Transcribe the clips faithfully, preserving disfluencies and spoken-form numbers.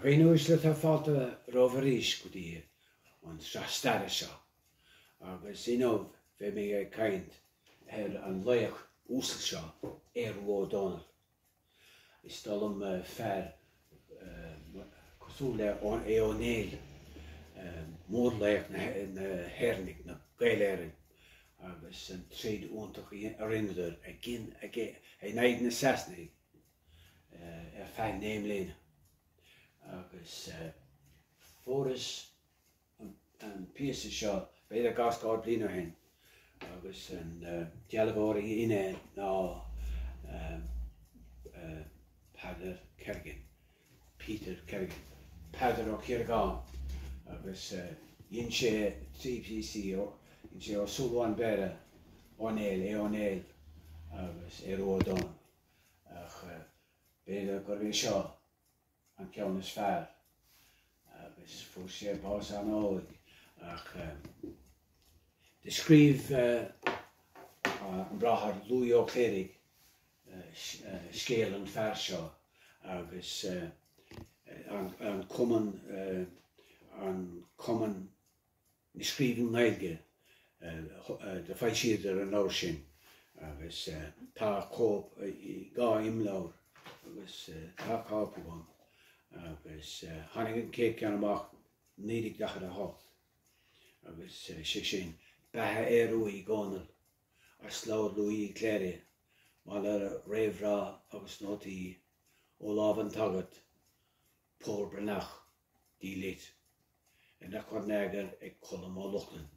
Dhaoine uaisle tá fáilte romhaibh arís go dtí an sraith staire seo agus inniu beidh mé ag caint ar an laoch uasal seo, Aodh Rua Ó Dónaill. Is dóigh liom fear cosúil le Aodh Ó Néill, mórlaoch na hÉireannaigh, na Gaeil Éireann, agus an troid iontach a rinneadar in aghaidh na Sasanaigh ar feadh naoi mbliana. Agus fuaireas an píosa seo b'fhéidir dhá scór bliain ó shin agus an dealbhóir a dhein é ná Peadar Kerrigan, Peter Kerrigan, Peadar Ó Ciaragáin agus dhein sé trí phíosaí, dhein sé Ó Súilleabháin Béarra, Ó Néill, Aodh Ó Néill agus Aodh Rua Ó Dónaill. Ach b'fhéidir gurb é seo an ceann is fearr agus fuair sé bás an-óg ach do scríobh an Bráthair Lughaidh Ó Cléirigh scéal an fear seo agus an cumann an cumann na Scríbhinn Gaeilge do foilsíodar an leabhar sin agus tá cóip dhá imleabhar agus tá cóip agam agus tháinig an chéad ceann amach naoi déag daichead a hocht agus sé sin Beatha Aodha Rua Uí Dhónaill as leabhar Lughaidh Uí Chléirigh maille réamhrá agus nótaí ó lámh an tSagairt Pól Breathnach D. Litt. Arna chur in eagar ag Colm Ó Lochlainn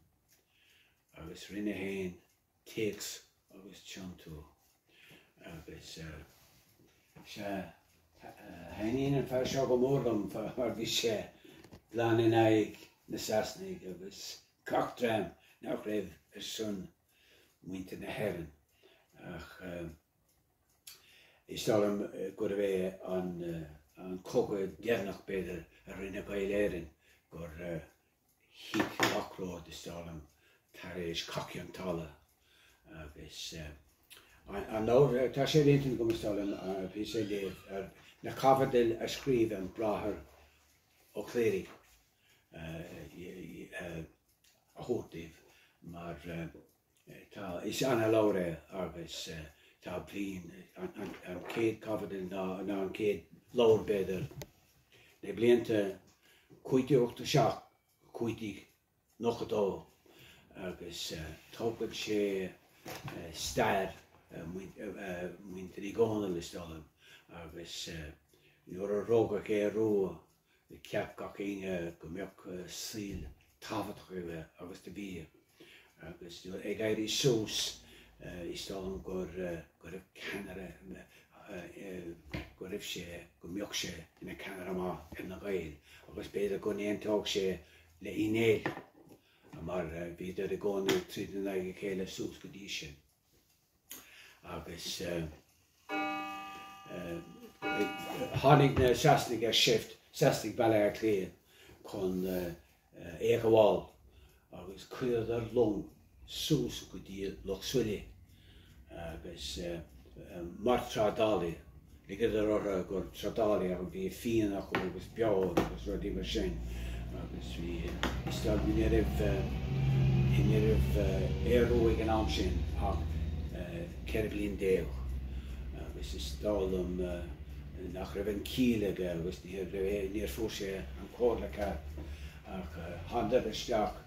agus rinne féin téacs agus tiontú agus sea thaitníonn an fear seo go mór liom mar bhí sé glan in aghaidh na Sasanaigh agus gach dream nach raibh ar son muintir na hÉireann ach is dóigh liom gurbh é an an cogadh deireanach b'fhéidir a rinne Gaeil Éireann gur thit gach rud is dóigh liom tar éis Cath Chionn tSáile agus an leabhar tá sé ar intinn agam is dóigh liom píosa a léamh ar na caibidil a scríobh an Bráthair Ó Cléirigh a thabhairt daoibh mar tá is ana-leabhar é agus tá bliain an chéad chaibidil ná an chéad leabhar b'fhéidir na blianta cúig déag ochtó seacht cúig déag nócha dó agus tógann sé stair muintir Uí Dhónaill is dóigh liom agus nuair a rugadh Aodh Rua cheap gach éinne go mbeadh saol tábhachtach aige agus do bhí agus ag éirí suas is dóigh liom gur go raibh ceannaire go raibh sé go mbeadh sé ina ceannaire maith ar na Gaeil agus b'fhéidir go n-aontódh sé le Uí Néill mar bhíodar i gcónaí ag troid in aghaidh a chéile suas go dtí sin. Agus tháinig na Sasanaigh ar seift, Sasanaigh Bhaile Átha Cliath chun é a ghabháil agus chuireadar long suas go dtí Loch Suilí agus mar trádálaí, ligeadar orthu gur trádálaí ach bhí fíon acu agus beoir agus rudaí mar sin agus bhí is dóigh ní raibh ní raibh Aodh Rua ag an am sin ach ceithre bliana déag agus is dóigh liom nach raibh an ciall aige agus níor níor fuair sé an comhairle ceart ach thánadar isteach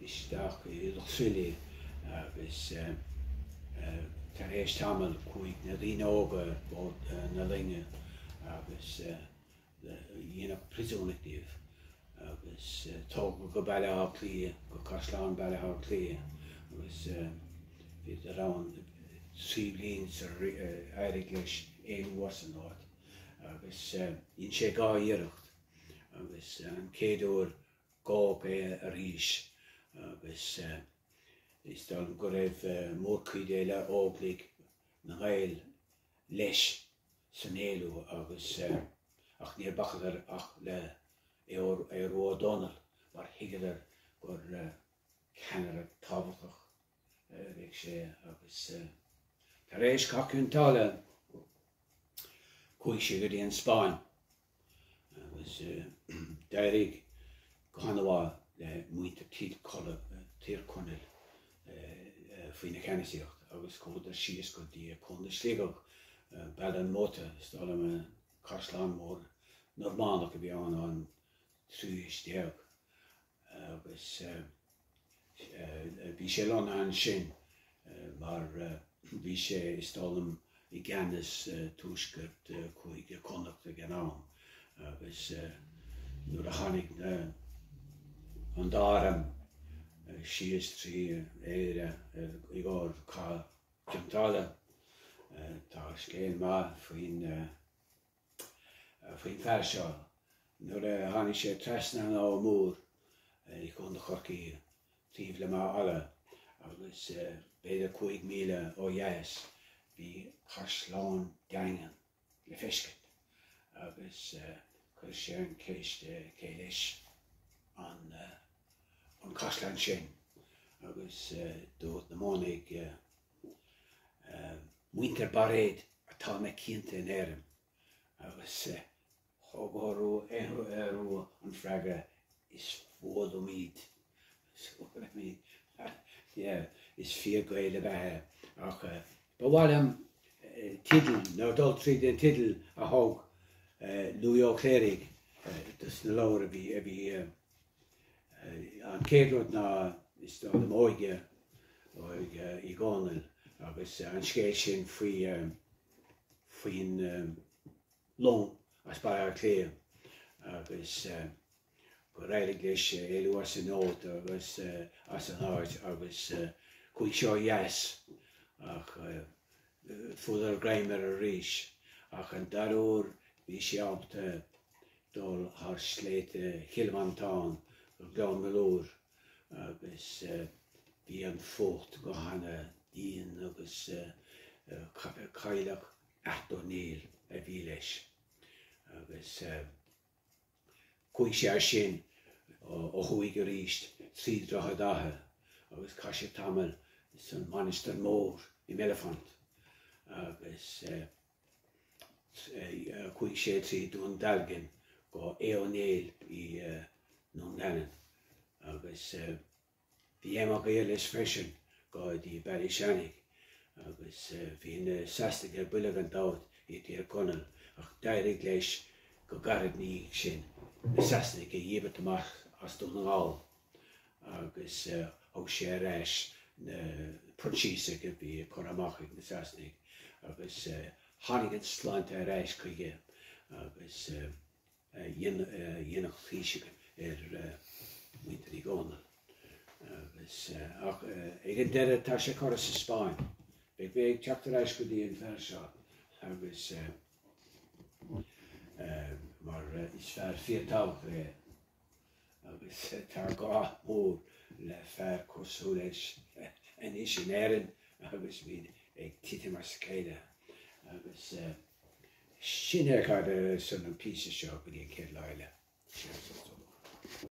isteach i Loch Suilí agus tar éis tamaill chuaigh na daoine óga bord na loinge agus dhéanadh príosúnaigh díobh agus tógadh go Baile Átha Cliath, go Caisleán Baile Átha Cliath agus bhíodar ann trí bliana sar éirigh leis éalú as an áit agus dhein sé dhá iarracht agus an chéad uair gabhadh é arís agus is dóigh liom go raibh mórchuid eile Óglaigh na nGael leis san éalú agus ach níor bhacadar ach le Aodh Rua Ó Dónaill mar thuigeadar gur ceannaire tábhachtach a bheadh sé agus tar éis Cath Chionn tSáile chuaigh sé go dtí an Spáinn Agus d'éirigh go han-mhaith le muintir Tír Chonaill faoina cheannasaíocht agus chuadar síos go dtí Contae Sligeach, Baile an Mhóta, is dóigh liom caisleán mór Normannach a bhí ann an tríú haois déag agus bhí sé lonnaithe ansin mar bhí sé is dóigh liom i gceannas tuaisceart Chúige Chonnacht ag an am agus nuair a tháinig an dá arm síos trí Éire i gcomhair Cath Chionn tSáile, tá scéal maith faoin faoin fear seo. Nuair a tháinig sé trasna an Abha Mór i gContae Chorcaí taobh le Maigh Fhalla agus b'fhéidir cúig míle ó dheas bhí caisleán daingean le feiscint agus chuir sé an ceist cé leis an an caisleán sin agus dúirt na manaigh muintir Bairéad atá na cianta in Éirinn agus thug orthu an freagra is fuath liom iad. Is fíor-Ghael ab ea é ach ba mhaith liom teideal nó dul tríd an teideal a thug Louis Ó Cléirigh dos na leabhair a bhí a bhí an chéad rud ná is dóigh liom Óige Óige Uí Dhónaill agus an scéal sin faoi faoin long as Baile Átha Cliath agus gur éirigh leis éalú as an áit agus as an áit agus chuaigh sé ó dheas ach fuaireadar greim air arís ach an dara huair bhí sé ábalta dul thar sléibhte Chill Mhantáin go Gleann Molúir agus bhí an fuacht go hana dian agus cailleach Ath O'Neill a bhí leis agus chuaigh sé as sin ó thuaidh arís trí Droichead Átha agus chaith sé tamall san Mainistir Mór i Mellifont agus chuaigh sé trí Dún Dealgan go Aodh Ó Néill i nDún Geanainn agus bhí Aodh Mac Aodha leis freisin go dtí Ballyshannock agus bhí na Sasanaigh ar buile gan dabht i dTír Chonaill ach d'éirigh leis go gairid ina dhiaidh sin na Sasanaigh a dhíbirt amach as Dún na nGall agus thug sé ar ais na Proinsiasaigh a bhí curtha amach ag na Sasanaigh agus tháinig an tsláinte ar ais chuige agus dhéanadh taoiseach ar mhuintir Uí Dhónaill. Agus ach ag an deireadh tá sé curtha sa Spáinn. Beidh mé ag teacht ar ais go dtí an fear seo agus mar is fear fíorthábhachtach é agus tá gá mór le fear cosúil leis anois in Éirinn agus muid ag titim as a chéile agus sin é cad san an píosa seo go dtí an chéad lá eile.